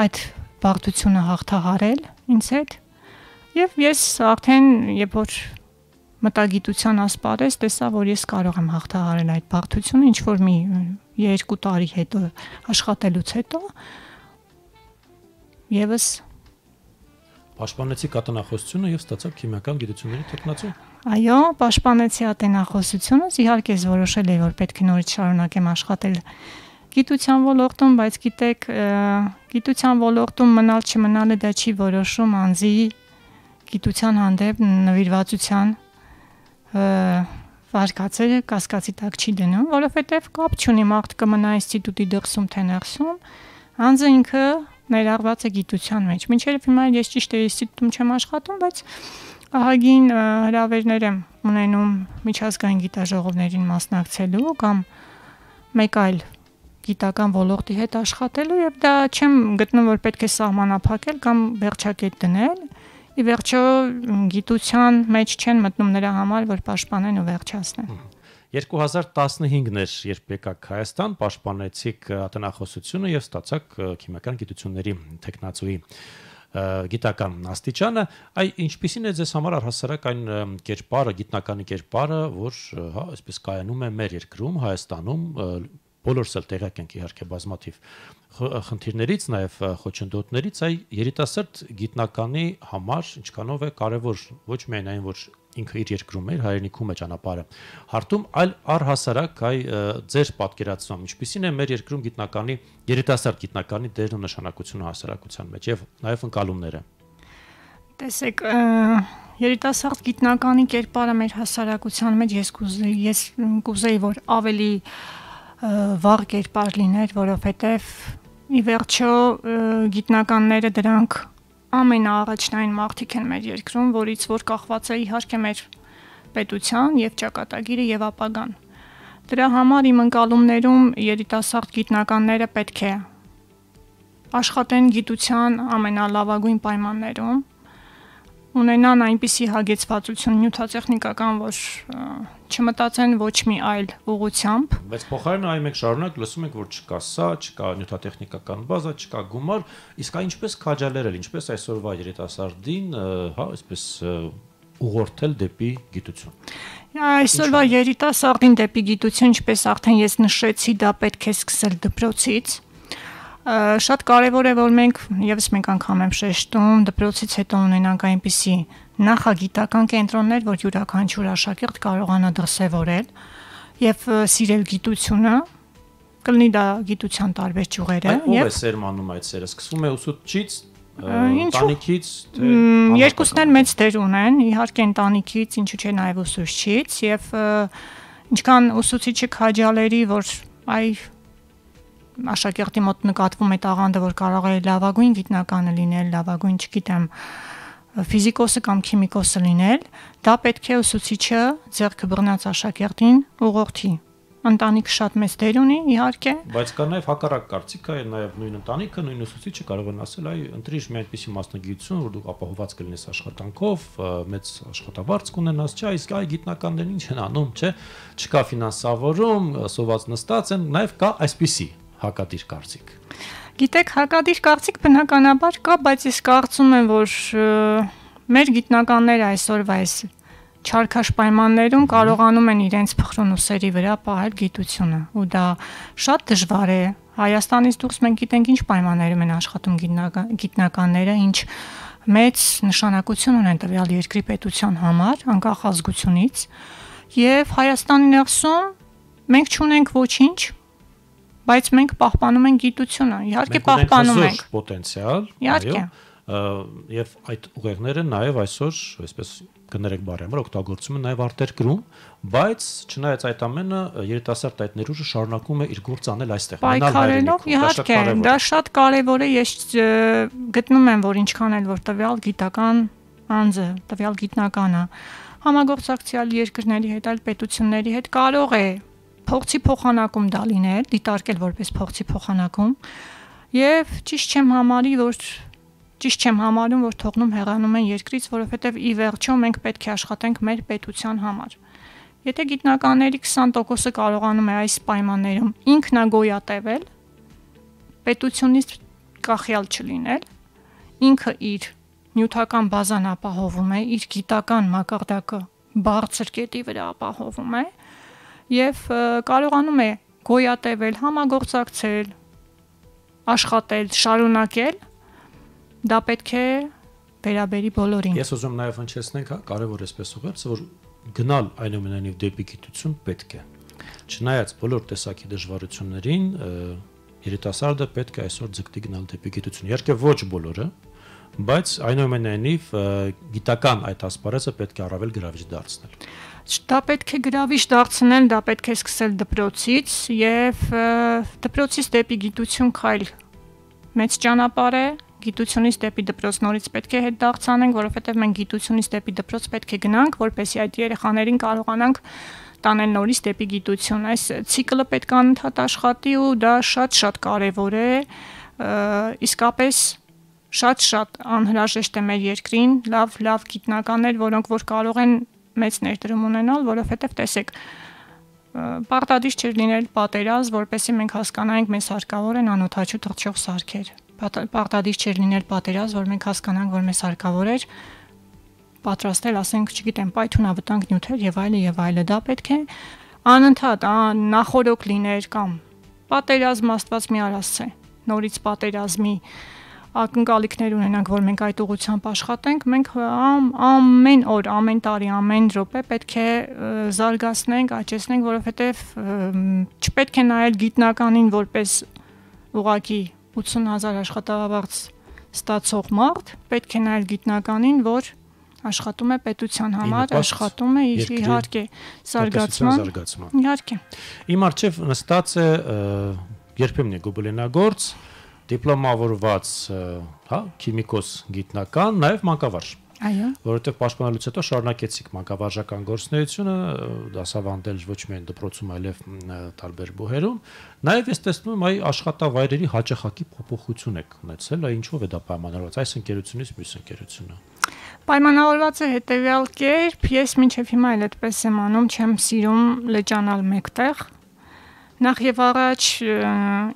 այդ բարդությունը հաղթահարել ինձ հետ, եւ ես արդեն երբ որ մտագիտության ասպարեզ տեսա, որ ես կարող եմ հաղթահարել այդ բարդությունը, ինչ որ մի երկու տարի հետո աշխատելուց հետո եւս Պաշտպանեցի ատենախոսությունը եւ ստացա քիմիական գիտությունների տեխնացու։ Այո, պաշտպանեցի ատենախոսությունս, իհարկե ես որոշել էի, որ պետք է նորից շարունակեմ աշխատել գիտության ոլորտում, բայց գիտեք, գիտության ոլորտում մնալ չմնալը դա չի որոշում անձի գիտության հանդեպ նվիրվածության վարկածը կասկածի տակ չի դնում, որովհետև կապ չունի մարդ կմնա ինստիտուտի դրսում թե ներսում, անձը ինքը ներառված է գիտության մեջ։ Մինչև հիմա ես ճիշտ է ինստիտուտում չեմ աշխատում, բայց ահագին հրավերներ եմ ունենում միջազգային գիտաժողովներին մասնակցելու կամ մեկ այլ գիտական ոլորտի հետ աշխատելու եւ դա չեմ գտնում, որ պետք է սահմանափակել կամ վերջակետ դնել։ Ի վերջո գիտության մեջ չեն մտնում նրա համար, որ պաշտպանեն ու վերջացնեն։ երկու հազար տասնհինգն էր, երբ եկաք Հայաստան, պաշտպանեցիք ատենախոսությունը եւ ստացաք քիմիական գիտությունների տեխնացուի գիտական աստիճանը, այ ինչպիսին է ձեզ համար առհասարակ այն կերպարը, գիտնականի կերպարը, որ հա, այսպես կայանում է մեր երկրում, Հայաստանում, բոլորս էլ տեղյակ ենք իհարկե բազմաթիվ խնդիրներից, նաև խոչընդոտներից, այ երիտասարդ գիտնականի համար ինչքանով է կարևոր ոչ միայն այն, որ ինքը իր երկրում է, իր հայրենիքում է ճանապարհը հարթում, այլ առհասարակ այ ձեր պատկերացում, ինչպիսին է մեր երկրում գիտնականի, երիտասարդ գիտնականի դերն ու նշանակությունը հասարակության մեջ եւ նաև ընկալումները։ Տեսեք, երիտասարդ գիտնականի կերպարը մեր հասարակության մեջ ես կուզեի, ես կուզեի, որ ավելի վառ կերպար լիներ, որովհետև ի վերջո գիտնականները դրանք ամենաառաջնային մարդիկ են մեր երկրում, որից որ կախված է իհարկե մեր պետության եւ ճակատագիրը եւ ապագան։ Դրա համար իմ ընկալումներում երիտասարդ գիտնականները պետք է աշխատեն գիտության ամենալավագույն պայմաններում, ունենան այնպիսի հագեցվածություն նյութատեխնիկական, որ չմտածեն ոչ մի այլ ուղղությամբ։ Բայց փոխարենը այ մենք շարունակ լսում ենք, որ չկա սա, չկա նյութատեխնիկական բազա, չկա գումար, իսկ այն ինչպես քաջալերել, ինչպես այսօրվա երիտասարդին, հա, այսպես ուղղորդել դեպի գիտություն։ Այսօրվա երիտասարդին դեպի գիտություն, ինչպես արդեն ես նշեցի, դա պետք է սկսել դպրոցից։ Շատ կարևոր է, որ մենք եւս մեկ անգամ եմ շեշտում, դպրոցից հետո ունենանք այնպիսի նախագիտական կենտրոններ, որ յուրաքանչյուր աշակերտ կարողանա դրսևորել եւ սիրել գիտությունը, կլինի դա գիտության տարբեր ճյուղերը եւ ո՞վ է սերմանում այդ սերը, սկսվում է ուսուցչից, ընտանիքից, թե երկուսն էլ մեծ դեր ունեն, իհարկե ընտանիքից, ինչու՞ չէ նաեւ ուսուցչից եւ ինչքան ուսուցիչը քաջալերի, որ այ աշակերտի մոտ նկատվում է տաղանդը, որ կարող է լավագույն գիտնականը լինել, լավագույն, չգիտեմ, ֆիզիկոսը կամ քիմիկոսը լինել, դա պետք է ուսուցիչը ձեռքը բռնած աշակերտին ուղղորդի։ Ընտանիքը շատ մեծ դեր ունի, իհարկե։ Բայց կա նաև հակառակ կարծիք, այ նաև նույն ընտանիքը, նույն ուսուցիչը կարող են ասել, այ ընտրիր մի այնպիսի մասնագիտություն, որ դու ապահովված կլինես աշխատանքով, մեծ աշխատավարձ կունենաս, չէ, իսկ այ գիտնականներն ինչ են անում, չէ, չկա ֆինանսավորում, սոված նստած են, նաև կա այսպիսի հակադիր կարծիք։ Գիտեք, հակադիր կարծիք բնականաբար կա, բայց ես կարծում եմ, որ մեր գիտնականները այսօրվա այս չարքաշ պայմաններում կարողանում են իրենց փխրուն ուսերի վրա պահել գիտությունը, ու դա շատ դժվար է։ Հայաստանից դուրս մենք գիտենք ինչ պայմաններում են աշխատում գիտնականները, ինչ մեծ նշանակություն ունեն տվյալ երկրի պետության համար, անկախ ազգությունից, եւ Հայաստանի ներսում մենք չունենք ոչինչ, բայց մենք պահպանում ենք գիտությունը, իհարկե պահպանում ենք պոտենցիալ, իհարկե, եւ այդ ուղեղները նաեւ այսօր, այսպես կներեք բարի համար օգտագործում են նաեւ արտերկրում, բայց չնայած այդ ամենը երիտասարդ այդ ներուժը շարունակում է իր գործ անել այստեղ։ Պայքարելով, իհարկե, դա շատ կարեւոր է, ես գտնում եմ, որ ինչքան էլ որ տվյալ գիտական անձը, տվյալ գիտնականը համագործակցյալ երկրների հետ, այլ պետությունների հետ կարող է փողցի փոխանակում դա լինել, դիտարկել որպես փողցի փոխանակում, եւ ճիշտ չեմ համարի, որ ճիշտ չեմ համարում, որ թողնում հեռանում են երկրից, որովհետեւ ի վերջո մենք պետք է աշխատենք մեր պետության համար։ Եթե գիտնականների քսան տոկոսը կարողանում է այս պայմաններում ինքնագոյատևել, պետությունից կախյալ չլինել, ինքը իր նյութական բազան ապահովում է, իր գիտական մակարդակը բարձր կետի վրա ապահովում է եւ կարողանում է գոյատևել, համագործակցել, աշխատել, շարունակել, դա պետք է վերաբերի բոլորին։ Ես ուզում նաև հնչեցնենք, հա, կարևոր էսպես ուղերձը, որ գնալ այնուամենայնիվ դեպի գիտություն պետք է։ Չնայած բոլոր տեսակի դժվարություններին, երիտասարդը պետք է այսօր ձգտի գնալ դեպի գիտություն։ Իհարկե ոչ բոլորը, բայց այնուամենայնիվ գիտական այդ ասպարեզը պետք է առավել գրավիչ դարձնել։ Դա պետք է գրավիչ դարձնել, դա պետք է սկսել դպրոցից եւ դպրոցից դեպի գիտություն քայլ մեծ ճանապարհ է, գիտությունից դեպի դպրոց նորից պետք է հետ դարձանենք, որովհետեւ մենք գիտությունից դեպի դպրոց պետք է գնանք, որպեսզի այդ երեխաներին կարողանանք տանել նորից դեպի գիտություն։ Այս ցիկլը պետք է անընդհատ աշխատի ու դա շատ-շատ կարեւոր է, իսկապես շատ-շատ անհրաժեշտ է մեր երկրին լավ-լավ գիտնականներ, որոնք որ կարող են մեծ ներդրում ունենալ, որովհետև տեսեք, պարտադիր չէր լինել պատերազմ, որպեսզի մենք հասկանանք մեզ հարկավոր են անօդաչու թռչող սարքեր։ Պարտադիր չէր լինել պատերազմ, որ մենք հասկանանք, որ մեզ հարկավոր էր պատրաստել, ասենք, չգիտեմ, պայթյունավտանգ նյութեր եւ այլը եւ այլը։ Դա պետք է անընդհատ նախորոք լիներ կամ պատերազմ Աստված մի արասցե, նորից պատերազմի ակնկալիքներ ունենանք, որ մենք այդ ուղղությամբ աշխատենք, մենք ամեն օր, ամեն տարի, ամեն րոպե պետք է զարգացնենք, աճեցնենք, որովհետև չպետք է նայել գիտնականին որպես ուղղակի ութսուն հազար աշխատավարձ ստացող մարդ, պետք է նայել գիտնականին, որ աշխատում է պետության համար, աշխատում է իհարկե զարգացման, իհարկե։ Իմ առջև նստած է երբեմն է գոբլինագործ, դիպլոմավորված, հա, քիմիկոս գիտնական, նաև մանկավարժ։ Այո։ Որովհետև պաշտպանելուց հետո շարունակեցիք մանկավարժական գործունեությունը, դասավանդել ոչ միայն դպրոցում, այլև տարբեր բուհերում։ Նաև ես տեսնում եմ այ աշխատավայրերի հաճախակի փոփոխություն եք ունեցել, այ ինչով է դա պայմանավորված, այս ընկերությունից մյուս ընկերությունը։ Պայմանավորված է հետևյալ կերպ, ես մինչև հիմա էլ այդպես եմ անում, չեմ սիրում լճանալ մեկտեղ։ Նախ եւ առաջ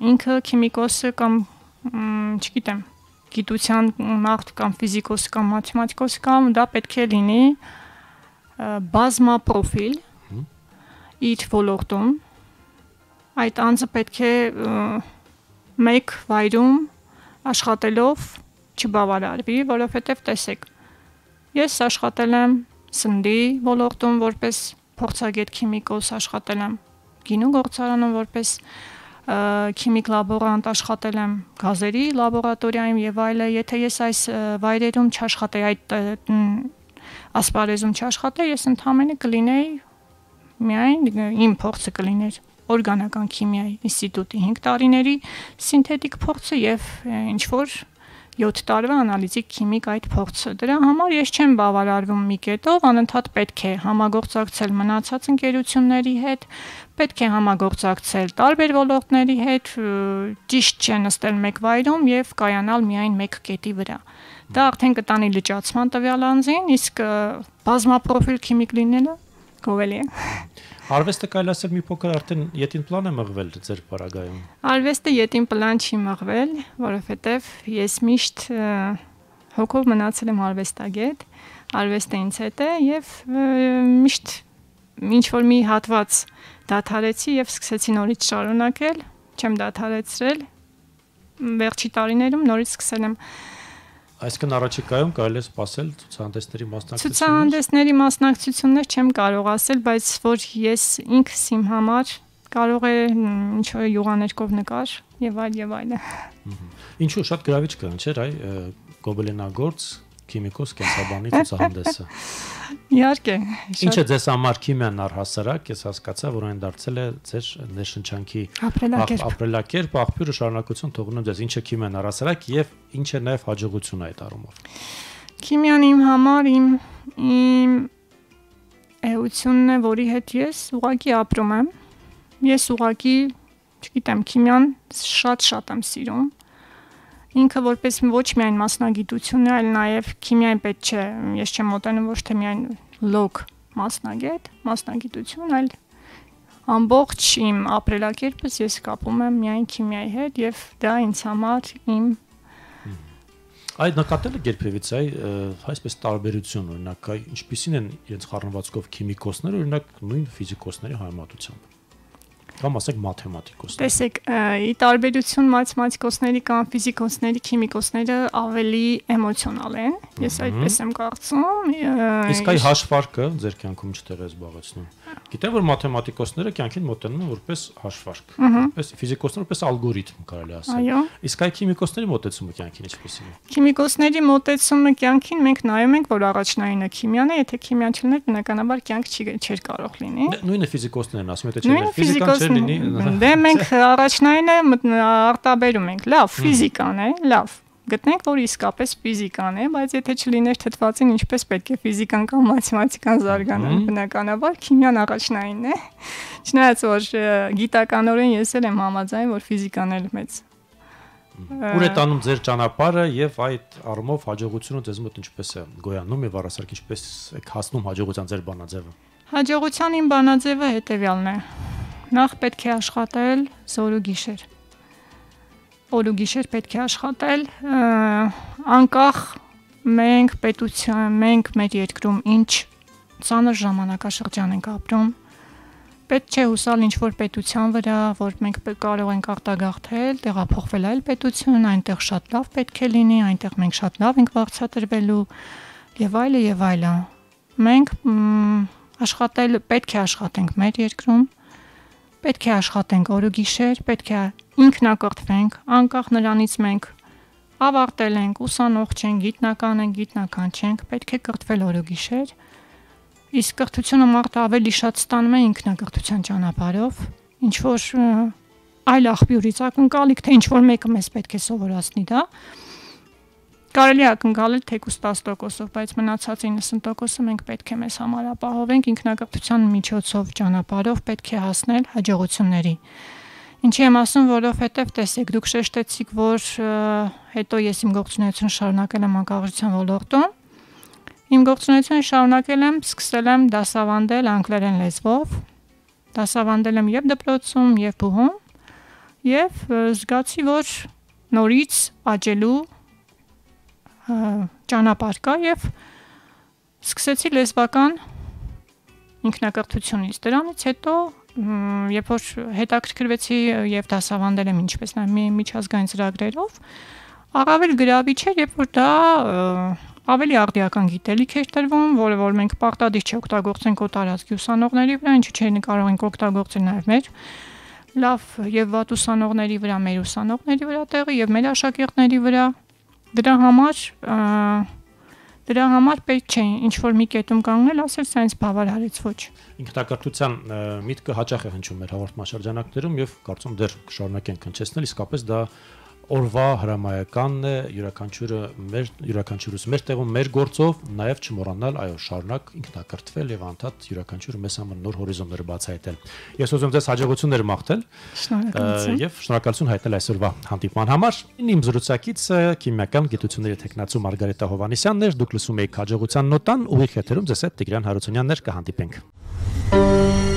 ինքը քիմիկոսը կամ չգիտեմ, գիտության մարդ կամ ֆիզիկոս կամ մաթեմատիկոս կամ դա պետք է լինի բազմապրոֆիլ իր ոլորտում, այդ անձը պետք է մեկ վայրում աշխատելով չբավարարվի, որովհետև տեսեք, ես աշխատել եմ սննդի ոլորտում որպես փորձագետ քիմիկոս, աշխատել եմ գինու գործարանում որպես քիմիկ լաբորանտ, աշխատել եմ գազերի լաբորատորիայում եւ այլն, եթե ես այս վայրերում չաշխատեի, այդ ասպարեզում չաշխատեի, ես ընդհանրապես կլինեի միայն իմ փորձը կլիներ օրգանական քիմիայի ինստիտուտի հինգ տարիների սինթետիկ փորձը եւ ինչ որ յոթ տարվա անալիզիկ քիմիկ այդ փորձը։ Դրա համար ես չեմ բավարարվում մի կետով, անընդհատ պետք է համագործակցել մնացած ընկերությունների հետ, պետք է համագործակցել տարբեր ոլորտների հետ, ճիշտ չէ նստել մեկ վայրում եւ կայանալ միայն մեկ կետի վրա։ Դա արդեն կտանի լճացման տվյալ անձին, իսկ բազմապրոֆիլ քիմիկ լինելը գովելի է։ Արվեստը կարելի ասել մի փոքր արդեն յետին պլան է մղվել ձեր պարագայում։ Արվեստը յետին պլան չի մղվել, որովհետև ես միշտ հոգով մնացել եմ արվեստագետ, արվեստը ինձ հետ է եւ միշտ ինչ որ մի հատված դադարեցի եւ սկսեցի նորից շարունակել, չեմ դադարեցրել, վերջի տարիներում նորից սկսել եմ Այսինքն առաջիկայում կարելի է սպասել ցուցահանդեսների մասնակցություններ։ Ցուցահանդեսների մասնակցություններ չեմ կարող ասել, բայց որ ես ինքս իմ համար կարող է ինչ որ յուղաներկով նկար եւ այլ եւ այլը։ Ինչու շատ գրավիչ կան, չէ՞, այ գոբելինագործ քիմիկոս կենսաբանի ցուցահանդեսը։ Իհարկե։ Ինչ է ձեզ համար քիմիան առհասարակ, ես հասկացա, որ այն դարձել է ձեր ներշնչանքի ապրելակերպ, աղբյուրը շարունակություն թողնում ձեզ։ Ինչ է քիմիան առհասարակ եւ ինչ է նաեւ հաջողությունը այդ առումով։ Քիմիան իմ համար իմ իմ էությունն է, որի հետ ես ուղղակի ապրում եմ։ Ես ուղղակի, չգիտեմ, քիմիան շատ-շատ եմ սիրում։ Ինքը որպես ոչ միայն մասնագիտություն է, այլ նաև քիմիային պետք չէ, ես չեմ մոտենում ոչ թե միայն լոկ մասնագետ, մասնագիտություն, այլ ամբողջ իմ ապրելակերպս ես կապում եմ միայն քիմիայի հետ եւ դա ինձ համար իմ Այդ նկատել եք երբևից այ այսպես տարբերություն, օրինակ, ինչպիսին են իրենց խառնվածքով քիմիկոսները, օրինակ նույն ֆիզիկոսների համեմատությամբ։ Կամ ասենք մաթեմատիկոսներ։ Տեսեք, ի տարբերություն մաթեմատիկոսների կամ ֆիզիկոսների, քիմիկոսները ավելի էմոցիոնալ են։ Ես այդպես եմ կարծում։ Իսկ այ հաշվարկը ձեր կյանքում չտեղ է զբաղեցնում։ Գիտեմ, որ մաթեմատիկոսները կյանքին մոտենում են որպես հաշվարկ, որպես ֆիզիկոսները որպես ալգորիթմ կարելի ասել։ Այո։ Իսկ այ քիմիկոսների մոտեցումը կյանքին ինչպիսին է։ Քիմիկոսների մոտեցումը կյանքին մենք նայում ենք, որ առաջնայինը քիմիան է, եթե քիմիան չլիներ, բնականաբար կյանք չի չէր կարող լինի։ Նույնը ֆիզիկոսներն ասում են, եթե չէր ֆիզիկան չէր լինի։ Դե մենք առաջնայինը արտաբերում ենք, լավ, ֆիզիկան է, լավ։ Գտնենք, որ իսկապես ֆիզիկան է, բայց եթե չլիներ թթվածին, ինչպես պետք է ֆիզիկան կամ մաթեմատիկան զարգանան, բնականաբար քիմիան առաջնայինն է։ Չնայած որ գիտականորեն ես էլ եմ համաձայն, որ ֆիզիկան էլ մեծ։ Ուր է տանում ձեր ճանապարհը եւ այդ առումով հաջողությունը ձեզ մոտ ինչպես է գոյանում եւ առասարակ ինչպես եք հասնում հաջողության ձեր բանաձևը։ Հաջողության իմ բանաձևը հետեւյալն է։ Նախ պետք է աշխատել զոր ու գիշեր։ Օր ու գիշեր պետք է աշխատել, անկախ մենք պետության, մենք մեր երկրում ինչ ծանր ժամանակաշրջան ենք ապրում, պետք չէ հուսալ ինչ-որ պետության վրա, որ մենք կարող ենք արտագաղթել, տեղափոխվել այլ պետություն, այնտեղ շատ լավ պետք է լինի, այնտեղ մենք շատ լավ ենք վարձատրվելու եւ այլը եւ այլը։ Մենք աշխատել, պետք է աշխատենք մեր երկրում, պետք է աշխատենք օր ու գիշեր, պետք է ինքնակրթվենք, անկախ նրանից մենք ավարտել ենք, ուսանող չենք, գիտնական ենք, գիտնական չենք, պետք է կրթվել օր ու գիշեր։ Իսկ կրթությունը մարդը ավելի շատ ստանում է ինքնակրթության ճանապարհով, ինչ որ այլ աղբյուրից ակնկալիք, թե ինչ որ մեկը մեզ պետք է սովորացնի դա։ Կարելի է ակնկալել թեկուզ տասը տոկոսով, բայց մնացած իննսուն տոկոսը մենք պետք է մեզ համար ապահովենք ինքնակրթության միջոցով ճանապարհով պետք է հասնել հաջողությունների։ Ինչի եմ ասում, որովհետև տեսեք, դուք շեշտեցիք, որ հետո ես իմ գործունեությունը շարունակել եմ մանկավարժության ոլորտում։ Իմ գործունեությունը շարունակել եմ, սկսել եմ դասավանդել անգլերեն լեզվով, դասավանդել եմ եւ դպրոցում, եւ բուհում, եւ զգացի, որ նորից աճելու ճանապարհ կա եւ սկսեցի լեզվական ինքնակրթությունից։ Դրանից հետո երբ որ հետաքրքրվեցի եւ դասավանդել եմ ինչպես նաեւ միջազգային ծրագրերով, առավել գրավիչ էր, երբ որ դա ավելի արդիական գիտելիք էր տրվում, որը որ մենք պարտադիր չօգտագործենք օտարածքի ուսանողների վրա, ինչու՞ չէ կարող ենք օգտագործել նաեւ մեր լավ եւ վատ ուսանողների վրա, մեր ուսանողների վրա տեղը եւ մեր աշակերտների վրա։ Դրա համար դրա համար պետք չէ ինչ որ մի կետում կանգնել, ասել սա ինձ բավարարեց ոչ։ Ինքնակրթության միտքը հաճախ է հնչում մեր հաղորդաշրջանակներում եւ կարծում դեռ կշարունակենք հնչեցնել, իսկապես դա օրվա հրամայականն է, յուրաքանչյուրը մեր յուրաքանչյուրս մեր տեղում մեր գործով նաև չմոռանալ, այո, շարունակ ինքնակրթվել եւ անդադ յուրաքանչյուրը մեզ համար նոր հորիզոններ բացահայտել։ Ես ուզում ձեզ հաջողություններ մաղթել եւ շնորհակալություն հայտնել այսօրվա հանդիպման համար։ Իմ զրուցակիցը քիմիական գիտությունների թեկնածու Մարգարիտա Հովհաննիսյանն էր, դուք լսում եք հաջողության նոտան, ուղիղ եթերում ձեզ հետ Տիգրան Հարությունյանն էր, կհանդիպենք։